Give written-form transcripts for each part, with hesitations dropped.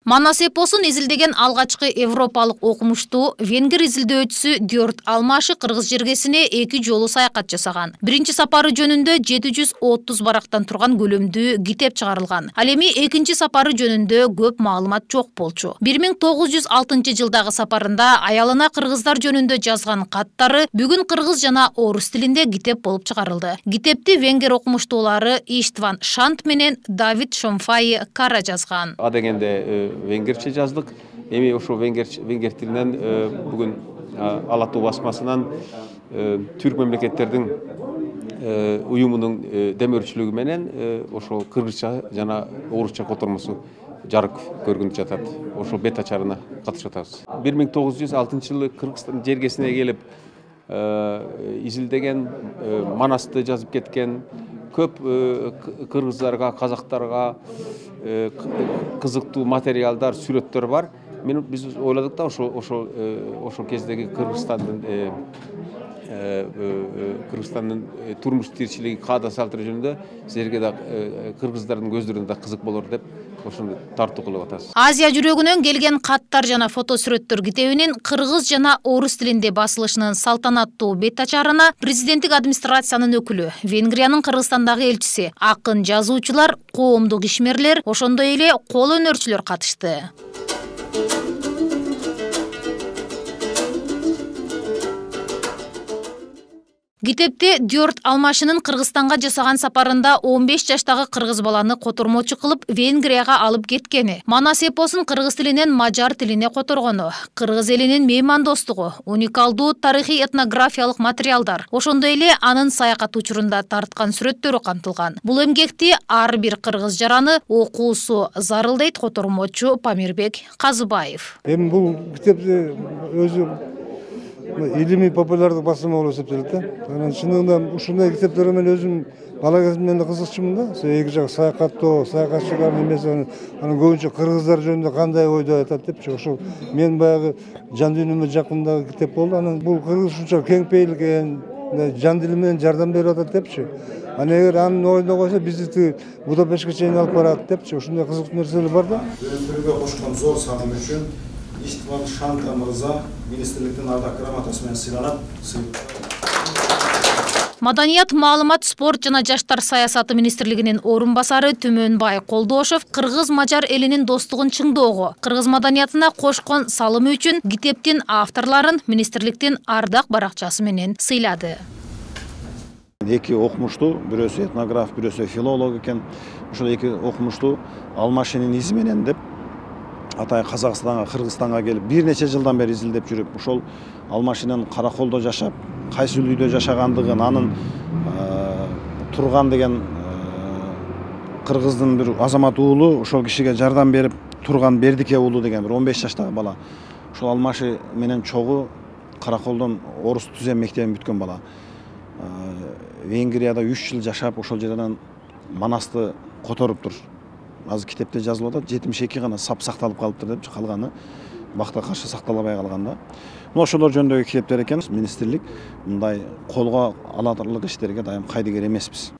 Манас эпосун изилдеген алгачкы европалык окумуштуу венгер изилдөөчүсү Дьорт Алмаши кыргыз жергесине 2 жолу саякат жасаган. Биринчи сапары жөнүндө 730 барактан турган көлөмдүү китеп чыгарылган. Ал эми экинчи сапары жөнүндө көп маалымат жок болчу. 1906 жылдагы сапарында аялына кыргыздар жөнүндө жазган каттары бүгүн кыргыз жана орус тилинде китеп болуп чыгарылды. Китепти венгер окумуштуулары Иштван Шант менен Давид Шомфай Кара жазган. Венгерче жаздык. Эми ошо венгер тилинен бүгүн Ала Тоо басмасынан түрк мамлекеттердин уюмунун демөөрчүлүгү менен ошо кыргызча жана орусча котормосу жарык көргүнүп жатат. Ошо бет ачарына катышып атабыз. 1906 жылы Кыргызстан жергесине келип изилдеген, Манасты жазып кеткен көп кыргыздарга, казактарга кызыктуу материалдар, сүрөттөр бар. Биз ойладык да ошол кездеги Кыргызстандын турмуш тиричилиги, каада салтыры жөнүндө силерге да кыргыздардын көздөрүнө да кызык болор деп ошону тартуу кылып атабыз. Азия жүрөгүнөн келген каттар жана фото сүрөттөр китебинин кыргыз жана орус тилинде басылышынын салтанаттуу бет ачарына президенттик администрациянын өкүлү, Венгриянын Кыргызстандагы элчиси, акын, жазуучулар, коомдук ишмерлер, ошондой эле кол өнөрчүлөр катышты. Китепте Дьорт Алмашинин Кыргызстанга жасаган сапарында 15 жаштагы кыргыз баланы котормочу кылып Венгрияга алып кеткени, Манас эпосун кыргыз тилинен мажар тилине которгону, кыргыз элинин меймандостугу, уникалдуу тарыхый этнографиялык материалдар, ошондой эле анын саякат учурунда тарткан сүрөттөрү камтылган. Бул эмгекти ар бир кыргыз жараны окуусу зарыл дейт котормочу Памирбек Казыбаев. Эми бул китепти өзү илимий популярдык басылма болуп эсептелет да. Анан чынында ушундай китептер менен өзүм бала кезимден эле кызыкчумун да. Эки жак саякаттоо, саякатчылардын эмеси, анан көбүнчө кыргыздар жөнүндө кандай ойдо айтат депчи. Ошол мен баягы жан дүйнөмө жакындагы китеп болду. Анан бул кыргыз ушунча кең пейил экен, жан дили менен жардам берип атат депчи. Анан эгер анын ойуна койсо бизди Будапештке чейин алып барат депчи. Ушундай кызыктуу нерселер бар да. Өндүрүүгө кошкон зор сагым үчүн Иштван Шант мырза министрликтин ардак грамотасы менен сыйланат. Маданият, маалымат, спорт жана жаштар саясаты министрлигинин орун басары Түмөнбай Колдошов кыргыз-мажар элинин достугун чыңдоого, кыргыз маданиятына кошкон салымы үчүн китептин авторлорун министрликтин ардак баракчасы менен сыйлады. Эки окумуштуу, бирөөсү этнограф, бирөөсү филолог экен. Ошол эки окумуштуу Алмашинин изи менен деп атай Казакстанга, Кыргызстанга келип бир нече жылдан бери изилдеп жүрүп, ошол Алмашинин Караколдо жашап, кайсы үйдө жашагандыгын, анын турган деген кыргыздын бир азамат уулу ошол кишиге жардам берип турган Бердике уулу деген бир 15 жаштагы бала. Ошол Алмаши менен чогуу Караколдон орус түзем мектебин бүткөн бала. Венгрияда 3 жыл жашап, ошол жерден Манасты которуптур. Азыр китепте жазылып атат, 72 гана сап сакталып калыптыр деп, калганы бакта каршы сакталбай калган да. Ошолор жөнүндөгү китептер экен. Министрлик мындай колго аларлык иштерге дайым кайдыгер эмеспиз.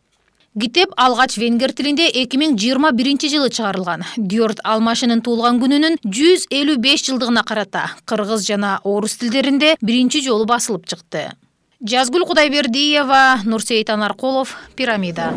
Китеп алгач венгер тилинде 2021 жылы чыгарылган. Дьорт Алмашинин туулган күнүнүн 155 жылдыгына карата кыргыз жана орус тилдеринде биринчи жолу басылып чыкты. Жазгүл Кудайбердиева, Нурсейит Анаркулов, Пирамида.